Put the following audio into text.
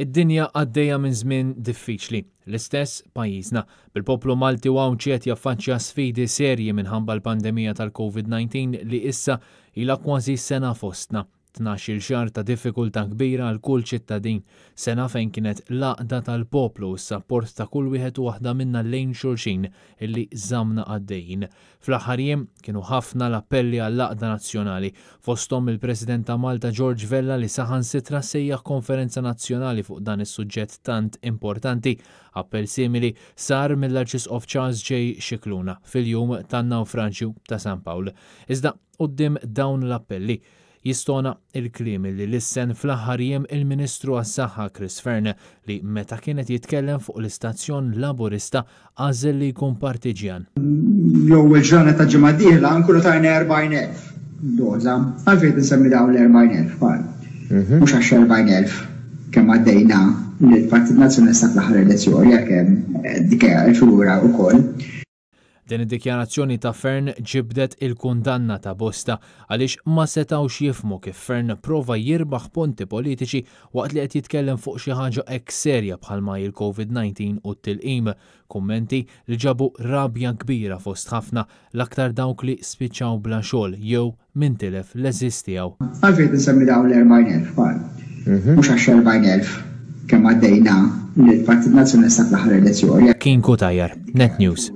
Id-dinja għaddejja minn żmien diffiċli. L-istess pajjiżna. Bil-poplu Malti u Għawdxi qed jaffaċċja sfidi serji minħabba l-pandemija tal-Covid-19 li issa ilha kważi sena fostna. 12-il xahar ta' diffikultà kbira għal kull ċittadin. Sena fejn kienet l-għaqda tal-poplu u s-sapport ta' kull wieħed u waħda minna lejn xulxin illi żammna għaddejjin. Fl-aħħar jiem, kienu ħafna l-appelli għall-għaqda nazzjonali, fosthom mill-President ta' Malta George Vella li saħansitra sejjaħ konferenza nazzjonali fuq dan is-suġġett tant importanti. Appell simili sar mill-Arċisqof Charles J. Scicluna fil-jum tan-nawfraġju ta' San Pawl. Iżda quddiem dawn l-appelli, Jistona il-kliem li lissen fl-aħħar jiem il-Ministru għas-Saħħa Chris Fearne li meta kien qed jitkellem fuq l-istazzjon Laburista għażel li jkun partiġjan. L-ewwel ġranet ta' ġimgħa d-dieħla nkunu tajna 40,000 doża. Għalfejn qed insemmi dawn l-40,000 Karl? Mhux għax 40,000 kemm għaddejna lill-Partit Nazzjonalista fl-aħħar elezzjoni għalkemm dik hija l-figura wkoll. Din id-dikjarazzjoni ta' Fearne ġibdet il-kundanna ta' bosta għaliex ma setgħux jifhmu kif Fearne prova jirbaħ punti politiċi waqt li qed jitkellem fuq xi ħaġa hekk serja bħalma hi l-Covid 19 u t-tilqim. Kummenti li ġabu rabja kbira fost ħafna, l-aktar dawk li spiċċaw bla xogħol jew min tilef l-għeżież tiegħu. Għalfejn qed insemmi dawn l-40,000, Karl? Mhux għax 40,000 kemm għaddejna lill-Partit Nazzjonalista fl-aħħar elezzjoni. Kien Cutajar, Net News.